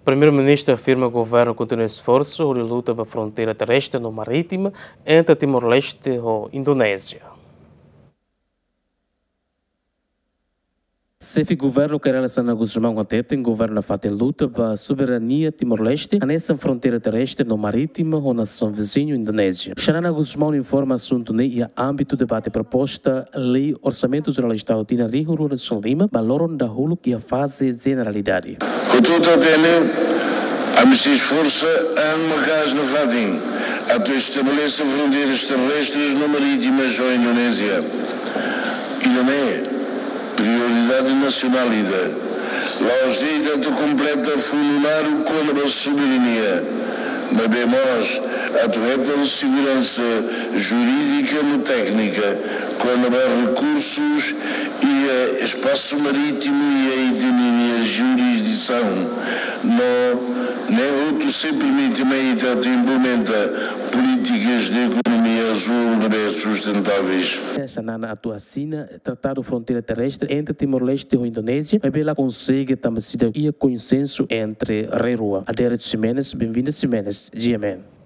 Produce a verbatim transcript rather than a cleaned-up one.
Primeiru-Ministru afirma governu kontinua esforsu hodi luta ba fronteira terrestre no marítima entre Timor-Leste ho Indonézia. Xefe Governu Kay Rala Xanana Gusmão hateten governu nafatin luta ba soberania Timor-Leste, hanesan fronteira terrestre no marítima ho nasaun viziñu Indonézia. Xanana Gusmão informa asuntu ne'e iha ámbitu debate proposta lei Orsamentu Jerál Estadu tinan rihun rua ruanulu-resin-lima ba loron dahuluk iha faze jeneralidade. Hotu-hotu hatene, ami sei esforsa an maka'as nafatin atu estabelese fronteiras terrestres no marítimas ho Indonézia. Ida-ne'e prioridade nasionál ida. La'ós de'it atu kompleta fundu naruk kona-ba soberania, maibé mós atu hetan seguransa jurídika no téknika kona-ba rekursus iha espasu marítimu iha ita-nia jurisdisaun. No ne'e hotu sei permite mai ita atu implementa polítikas de ekonomia azúl ne'ebé sustentáveis. Xanana atu asina Tratadu Fronteira Terrestre entre Timor-Leste ho Indonézia, maibé la konsege tanba seidauk iha konsensu entre rai rua. Adérito Ximenes, Benvinda Ximenes, G M N.